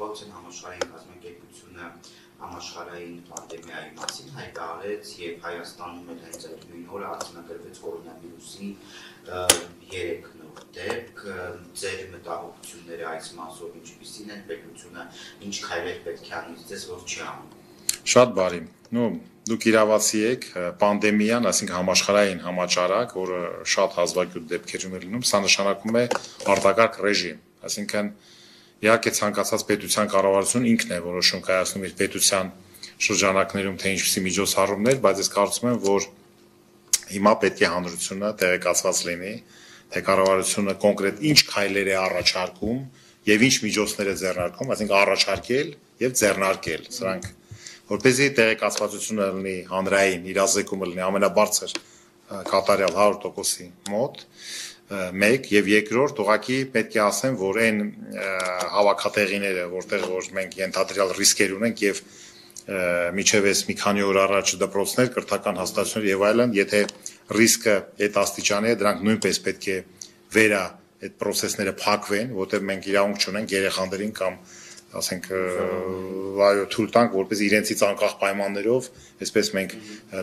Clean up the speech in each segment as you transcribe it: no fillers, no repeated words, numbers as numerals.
Կառավարության համաշխարհային կազմակերպությունը համաշխարհային պանդեմիայի մասին հայտարարեց եւ Հայաստանում էլ հենց այդ նույն օրը արձանագրվեց կորոնավիրուսի 3 նոր դեպք, ձեր մտահոգությունները այս մասով ինչպիսին են, պետությունը ինչ քայլեր պետք է անի, ձեզ որ չի անում։ Շատ բարի։ Դուք իրավացի եք, պանդեմիան, այսինքն համաշխարհային համաճարակ, որը շատ հազվագյուտ դեպքերում է լինում, սա նշանակում է արտակարգ ռեժիմ, այսինքն իհարկե ցանկացած պետության կառավարություն ինքն է որոշում կայացնում իր պետության շրջանակներում թե ինչպիսի միջոցառումներ, բայց ես կարծում եմ, որ հիմա պետք է հանրությունը տեղեկացված լինի, թե կառավարությունը կոնկրետ ինչ քայլեր է առաջարկում եւ ինչ միջոցներ է ձեռնարկում, այսինքն առաջարկել եւ ձեռնարկել, սրանք որպեսզի տեղեկացվածությունը լինի հանրային, իրազեկումը լինի ամենաբարձր կատարյալ 100%-ի մոտ, մեկ եւ երկրորդ ուղղակի պետք է ասեմ, որ այն հավաքատեղիները, որտեղ որ մենք ենթադրյալ ռիսկեր ունենք եւ միջև էս մի քանի օր առաջ դպրոցներ, կրթական հաստատություններ եւ այլն, եթե ռիսկը այդ աստիճանի է, դրանք նույնպես պետք է վերա այդ process-ները փակվեն, որտեղ մենք իրավունք չունենք երեխաներին կամ ասենք այո թույլ տանք որպես իրենցից անկախ պայմաններով այսպես մենք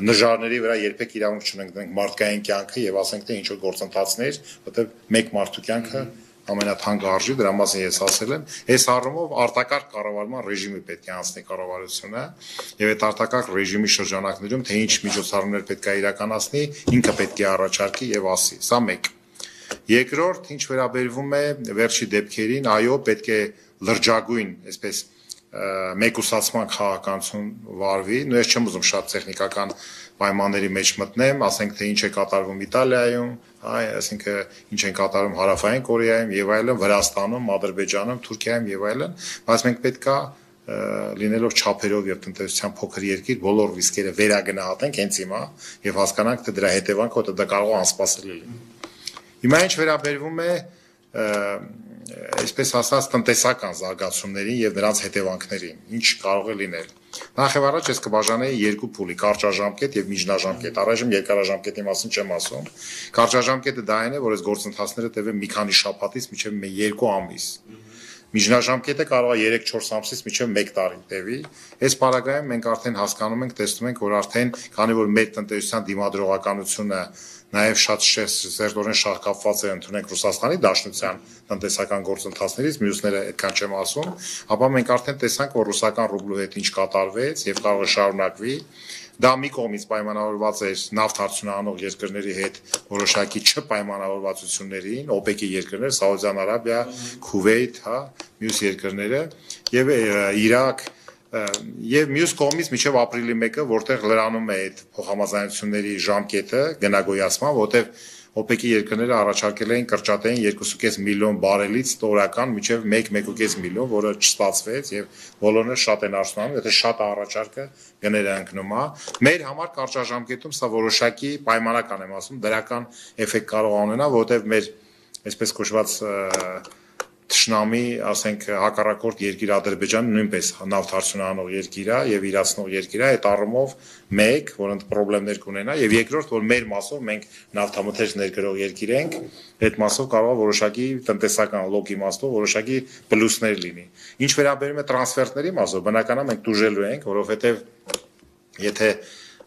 նժարների վրա երբեք իրավունք չունենք դրանք մարդկային կյանքը եւ ասենք թե ինչ որ գործընթացներ որտեղ մեկ մարդու կյանքը ամենաթանկը արժի դրա մասին ես ասել եմ այս առումով արտակարգ կառավարման ռեժիմի պետք է անցնի կառավարությունը եւ այդ արտակարգ ռեժիմի շրջանակներում թե ինչ միջոցառումներ պետք է իրականացնի ինքը պետք է առաջարկի եւ ասի սա մեկ երկրորդ ինչ վերաբերվում է վերջի դեպքերին այո պետք է լրջագույն, այսպես մեկուսացման քաղաքականություն վարվի, նույն ես չեմ ուզում շատ տեխնիկական պայմանների մեջ մտնեմ, ասենք թե ինչ է կատարվում Իտալիայում, այսինքն ինչ են կատարում Հարավային Կորեայում եւ այլն, Վրաստանում, Ադրբեջանում, Թուրքիայում եւ այլն, բայց մենք պետքա լինելով չափերով եւ տնտեսության փոքր երկիր բոլոր ռիսկերը վերագնահատենք հենց հիմա եւ հասկանանք թե դրա հետևանքը որտեղ դա կարող է անսպասելի լինի։ Հիմա ինչ վերաբերվում է այսպես ասած տնտեսական զարգացումներին եւ նրանց հետևանքներին, ինչ կարող է լինել։ Նախ եւ առաջ ես կբաժանեի երկու փուլի՝ կարճաժամկետ եւ միջնաժամկետ։ Առայժմ երկարաժամկետի մասին չեմ ասում։ Կարճաժամկետը դա այն է, որ այս գործընթացները տևեն մի քանի շաբաթից մինչեւ 2 ամիս։ Միջնաժամկետը կարող է 3-4 ամսից մինչև 1 տարի տևի։ Այս պարագայում մենք արդեն հասկանում ենք, տեսնում ենք, որ արդեն քանի որ մեր տնտեսության դիմադրողականությունը նաև շատ սերտորեն շահկապված է ընդունենք Ռուսաստանի Դաշնության տնտեսական գործընթացներից, մյուսները այդքան չեմ ասում, ապա մենք արդեն տեսանք, որ ռուսական ռուբլու հետ ինչ կատարվեց եւ կարող է շարունակվի։ Դա մի կողմից պայմանավորված էր նավթ արդյունահանող երկրների հետ որոշակի չպայմանավորվածություններին, OPEC-ի երկրներ, Սաուդյան Արաբիա, Քուվեյթ, մյուս երկրները եւ Իրաք եւ մյուս կողմից մինչեւ ապրիլի 1-ը, որտեղ լրանում է այդ փոխհամաձայնությունների ժամկետը գնագոյացման, որտեղ OPEC-ի երկրները առաջարկել էին կրճատեին 2.5 միլիոն բարելից տորական մինչև 1-1.5 միլիոն, որը չստացվեց եւ բոլորը շատ են արժանանում, եթե շատ առաջարկը գները ընկնում է։ Մեր համար կարճաժամկետում սա որոշակի պայմանական եմ ասում, դրական էֆեկտ կարող ունենա, որովհետեւ մեր այսպես կոչված Թշնամի, ասենք հակառակորդ երկիր Ադրբեջանը նույնպես նավթ արդյունահանող երկիր է եւ իրացնող երկիր է, այդ առումով մեկ, որոնց խնդիրներ կունենա եւ երկրորդ, որ մեր մասով մենք նավթամթերք ներկրող երկիր ենք, այդ մասով կարող է որոշակի տնտեսական լոգ իմաստով որոշակի պլյուսներ լինի։ Ինչ վերաբերում է տրանսֆերտների մասով, բնականաբար մենք դժելու ենք, որովհետեւ եթե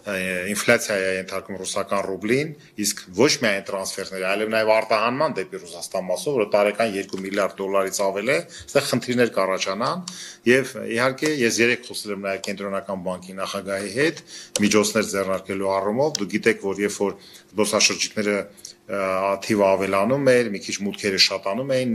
ինֆլյացիա է ենթարկում ռուսական ռուբլին, իսկ ոչ միայն տրանսֆերներ, այլև նաև արտահանման դեպի Ռուսաստան մասով, որը տարեկան 2 միլիարդ դոլարից ավել է, այստեղ խնդիրներ կառաջանան եւ իհարկե ես երեք խոսել եմ նաև կենտրոնական բանկի նախագահի հետ միջոցներ ձեռնարկելու առումով, դուք գիտեք, որ երբ որ զբոսաշրջիկները թիվը ավելանում էր, մի քիչ մուտքերը շատանում էին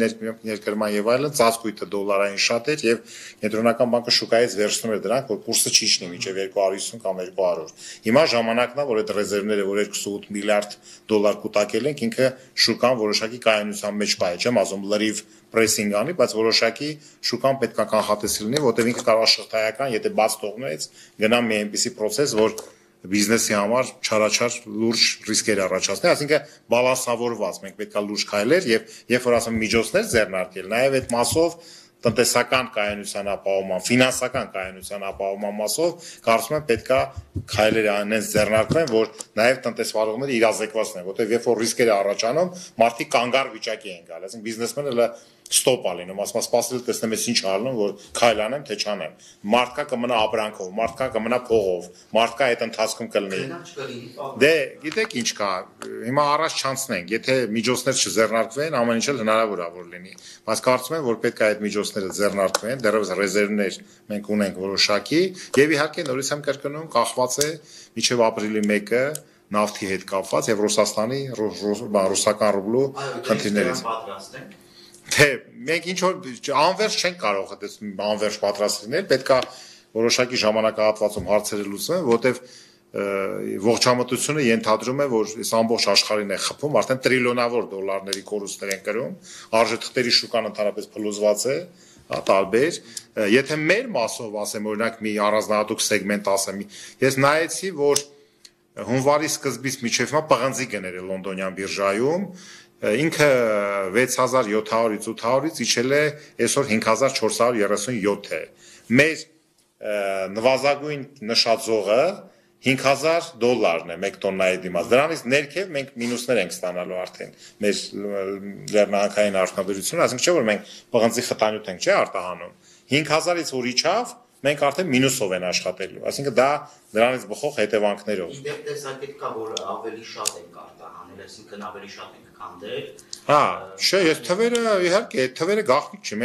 ներկրման եւ այլն, ծածկույթը դոլարային շատ էր եւ կենտրոնական բանկը շուկայից վերցնում էր դրանք, որ կուրսը չիջնի մինչեւ 250 կամ 200։ Հիմա ժամանակն է, որ այդ ռեզերվները, որ 2.8 միլիարդ դոլար կուտակել ենք, ինքը շուկան որոշակի կայունության մեջ պահի, չեմ ասում լրիվ պրեսինգ անի, բայց որոշակի շուկան պետք է կանխատեսել լինի, որտեղ ինքը կարող է շղթայական, եթե բաց թողնեց, գնա մի այնպիսի process, որ բիզնեսի համար չարաչար լուրջ ռիսկեր առաջացնի, այսինքն բալանսավորված մենք պետք է լուրջ քայլեր եւ երբ որ ասում միջոցներ ձեռնարկել, նաեւ այդ մասով տնտեսական կայունության ապահովման, ֆինանսական կայունության ապահովման մասով կարծում եմ պետք է քայլեր անենց ձեռնարկվեն, որ նաեւ տնտեսվարողները իրազեկված լինեն, որտեղ երբ որ ռիսկերը առաջանում, մարդիկ կանգար վիճակի են գալիս, այսինքն բիզնեսմենը ստոպ ալինում, ասում սպասել տեսնեմ ես ինչ արնում, որ քայլ անեմ, թե չանեմ։ Մարդկա կմնա ապրանքով, մարդկա կմնա փողով, մարդկա այդ ընթացքում կլինի։ Դե, գիտեք ինչ կա, հիմա առաջ չանցնենք, եթե միջոցներ չձեռնարկվեն, ամեն ինչ էլ հնարավոր է որ լինի։ Բայց կարծում եմ, որ պետք է այդ միջոցները ձեռնարկվեն, դեռևս ռեզերվներ մենք ունենք որոշակի, եւ իհարկե նորից եմ կրկնում, կախված է մինչեւ ապրիլի 1-ը նավթի հետ կապված եւ Ռուսաստանի ռուսական ռուբլու խնդիրներից։ Թե մենք ինչ որ անվերջ չենք կարող այդպես անվերջ պատրաստ լինել, պետքա որոշակի ժամանակահատվածում հարցերը լուծվեն, որտեվ ողջամտությունը ենթադրում է, որ այս ամբողջ աշխարհին է խփում, արդեն տրիլիոնավոր դոլարների կորուստներ են կրում, արժեթղթերի շուկան ընդհանրապես փլուզված է, տարբեր, եթե մեր մասով ասեմ, օրինակ մի առանձնահատուկ սեգմենտ ասեմ, ես նայեցի, որ հունվարի սկզբից մինչև հիմա պղնձի գներ է լոնդոնյան բիրժայում, ինքը 6700-ից 800-ից իջել է այսօր 5437 է։ Մեր նվազագույն նշածողը $5000 է 1 տոննայի դիմաց։ Դրանից ներքև մենք մինուսներ ենք ստանալու արդեն մեր լեռնահանքային արդյունաբերությունը, այսինքն չէ որ մենք պղնձի խտանյութ ենք, չէ, արտահանում։ 5000-ից որ իջավ, մենք արդեն մինուսով են աշխատելու, այսինքն դա դրանից բխող հետևանքներով։ Իդեպ տեսակետ կա, որ ավելի շատ ենք արտահանել, այսինքն ավելի շատ ենք քանդել։ Հա, չէ, ես թվերը իհարկե, այդ թվերը գաղտնիք չի,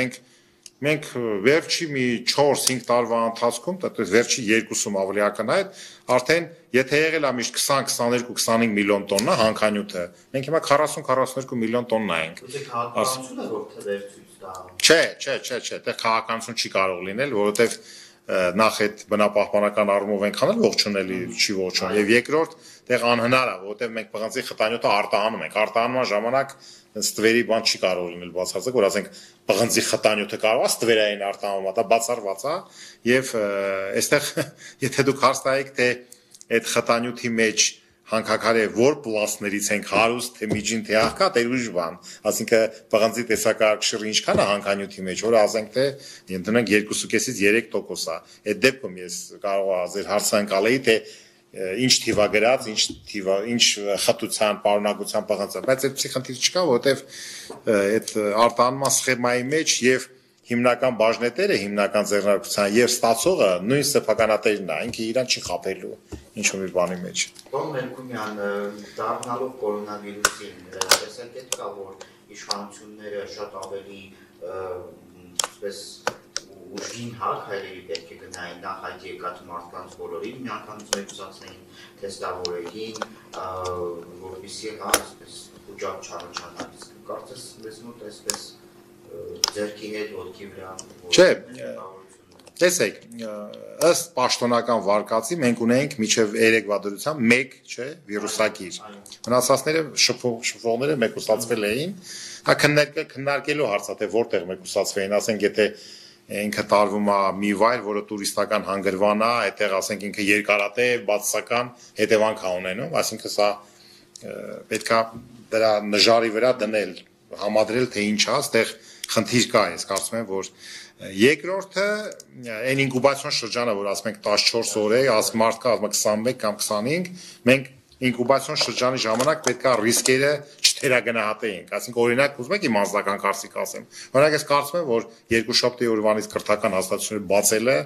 մենք վերջի մի 4-5 տարվա ընթացքում, վերջի 2-ում ավելի ակնհայտ, արդեն եթե եղել է միշտ 20-22-25 միլիոն տոննա հանքանյութը, մենք հիմա 40-42 միլիոն տոննա ենք։ Ո՞ւր քաղաքականությունը որ թվեր ցույց տա։ Չէ, դա քաղաքականություն չի կարող լինել, որովհետև նախ այդ բնապահպանական առումով ենք անել ողջունելի չի ողջուն եւ երկրորդ դեղ անհնար է որովհետեւ մենք պղնձի խտանյութը արտահանում ենք արտահանման ժամանակ ստվերի բան չի կարող լինել բացարձակ որ ասենք պղնձի խտանյութը կարող է ստվերային արտահանումը դա բացառված է եւ այստեղ եթե դուք հարց տայիք թե այդ խտանյութի մեջ հանքաքարե որ պլաստներից ենք հարուստ թե միջին թե աղքա դե ուրիշ բան ասինքն պղնձի տեսակարգշիռը ինչքան է հանքանյութի մեջ որ ասենք թե ընդունենք 2.5-ից 3% է այդ դեպքում ես կարող եմ ձեր հարցը անցալեի թե ինչ թիվա գրած ինչ խտության պարունակության պղնձ բայց այդպիսի խնդիր չկա որովհետեւ այդ արտահանման սխեմայի մեջ եւ հիմնական բաժնետերը հիմնական ձեռնարկության եւ ստացողը նույն սեփականատերն է ինքը իրան չի խաբելու ինչ-որ մի բանի մեջ Տոն Մելքումյան դառնալով կորոնավիրուսին տեսակետ կա որ իշխանությունները շատ ավելի այսպես ուժգին հայերի պետք է գնային նախ այդ եկած մարդկանց բոլորին միանգամից մեկուսացնեին թեստավորեին որպեսզի այսպես ուժակ չառաջանա կարծես մեզ մոտ այսպես ձերքի հետ ոտքի վրա Չէ տեսեք ըստ պաշտոնական վարկածի մենք ունենք միջև երեկվա դրությամբ 1 չէ վիրուսակիր մնացածները շփողները մեկուսացվել էին դա քննարկելու հարց է թե որտեղ մեկուսացվեին ասենք եթե ինքը տարվում է մի վայր որը տուրիստական հանգրվան է այդտեղ ասենք ինքը երկարատև բացասական հետևանք է ունենում այսինքն սա պետքա դրա նժարի վրա դնել համադրել թե ինչ է այստեղ խնդիր կա ես կարծում եմ որ երկրորդը այն ինկուբացիոն շրջանը որ ասում ենք 14 օր է ասում մարդկա ասում 21 կամ 25 մենք ինկուբացիոն շրջանի ժամանակ պետքա ռիսկերը չթերագնահատեինք այսինքն օրինակ ուզում եք իմ անձնական կարծիք ասեմ օրինակ ես կարծում եմ որ երկու շաբթի օրվանից քրթական հաստատությունները բացելը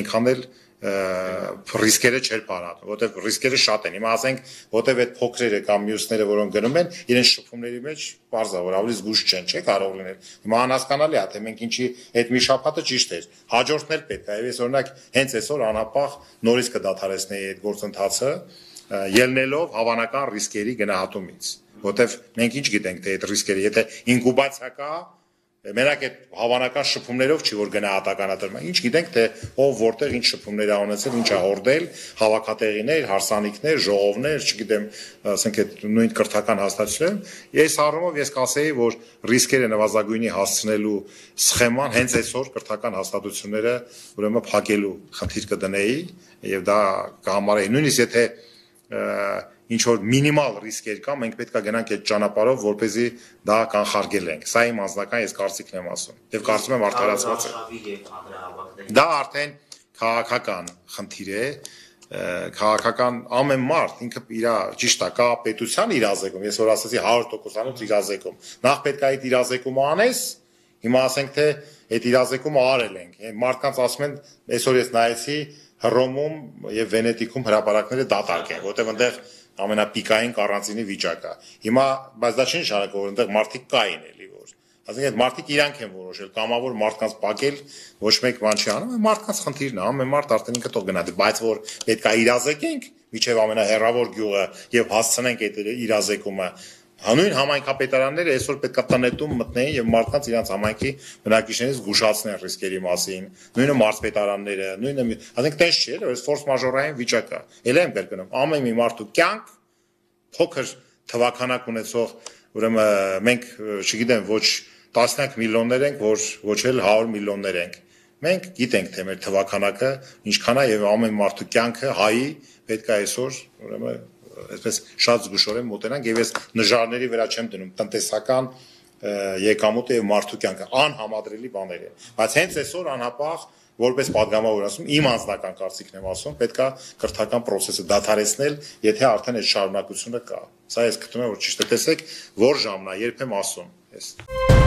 այնքան էլ ռիսկերը չէր բարանում, որտեղ ռիսկերը շատ են։ Հիմա ասենք, որտեղ այդ փոքրերը կամ մյուսները, որոնք գնում են, իրենց շփումների մեջ բարձր որ ավելի զգուշ չեն, չէ՞ կարող լինել։ Հիմա անհասկանալի է, թե մենք ինչի այդ մի շաբաթը ճիշտ էր։ Հաջորդն էլ պետք է, եւ ես օրինակ հենց այսօր անապահ նորից կդադարեցնեի այդ գործընթացը, ելնելով հավանական ռիսկերի գնահատումից, որտեղ մենք ինչ գիտենք, թե այդ ռիսկերը, եթե ինկուբացիա կա Մենակ այդ հավանական շփումներով չի որ գնահատականատրում է։ Ինչ գիտենք թե ով որտեղ ինչ շփումներ ա ունեցել, ինչ ա հորդել, հավաքատեղիներ, հարսանիքներ, ժողովներ, չգիտեմ, ասենք այդ նույն կրթական հաստատություններում։ Ես առումով ես կասեի, որ ռիսկերը նվազագույնի հասցնելու սխեման հենց այսօր կրթական հաստատությունները ուրեմն փակելու խնդիր կդնեի եւ դա կհամարեի նույնիսկ եթե ինչ որ մինիմալ ռիսկեր կա, մենք պետք է գնանք այդ ճանապարհով, որպեսզի դա կանխարգել ենք։ Սա իմ անձնական ես կարծիքն եմ ասում։ Եվ կարծում եմ արդարացված է։ Դա արդեն քաղաքական խնդիր է, քաղաքական ամեն մարդ ինքը իր ճիշտ է, կա պետության իրազեկում։ Ես որ ասացի 100%-անոց իրազեկում։ Նախ պետք է այդ իրազեկումը անես, Հիմա ասենք թե այդ իրազեկումը արել ենք։ Մարդկանց ասում են, այսօր ես նայեցի Հռոմում եւ Վենետիկում հրապարակները դատարկ են, որտեղ այնտեղ ամենապիկային կարանտինի վիճակ է։ Հիմա բայց դա չի նշանակում, որ այնտեղ մարդիկ կային էլի որ։ Ասենք այդ մարդիկ իրանք են որոշել կամավոր մարդկանց փակել, ոչ մեկ բան չի անում, մարդկանց խնդիրն է, ամեն մարդ արդեն ինքը թող գնա, բայց որ պետք է իրազեկենք միջև ամենահեռավոր գյուղը եւ հասցնենք այդ իրազեկումը։ Հանուն համայնքապետարանները այսօր պետք է տնետում մտնեին եւ մարդկանց իրենց համայնքի բնակիչներից զգուշացնեն ռիսկերի մասին, նույնը մարզպետարանները, նույնը, ասենք տես չէ, որ ֆորս մաժորային վիճակ է։ Էլ եմ կրկնում, ամեն մի մարդու կյանք փոքր թվականակ ունեցող, ուրեմն մենք, չգիտեմ, ոչ տասնյակ միլիոններ ենք, ոչ էլ 100 միլիոններ ենք։ Մենք գիտենք, թե մեր թվականակը ինչքան է եւ ամեն մարդու կյանքը հայի պետք է այսօր, ուրեմն այսպես շատ զգուշորեն մոտենանք եւ ես նժարների վրա չեմ դնում տնտեսական եկամուտը եւ մարդու կյանքը անհամադրելի բաներ են, բայց հենց այսօր անհապաղ որպես падգամավոր ասում իմ անձնական կարծիքն եմ ասում պետքա կրթական process-ը դադարեցնել, եթե արդեն այդ շարունակությունը կա։ Սա ես գտնում եմ որ ճիշտ է, տեսեք որ ժամն է, երբ եմ ասում ես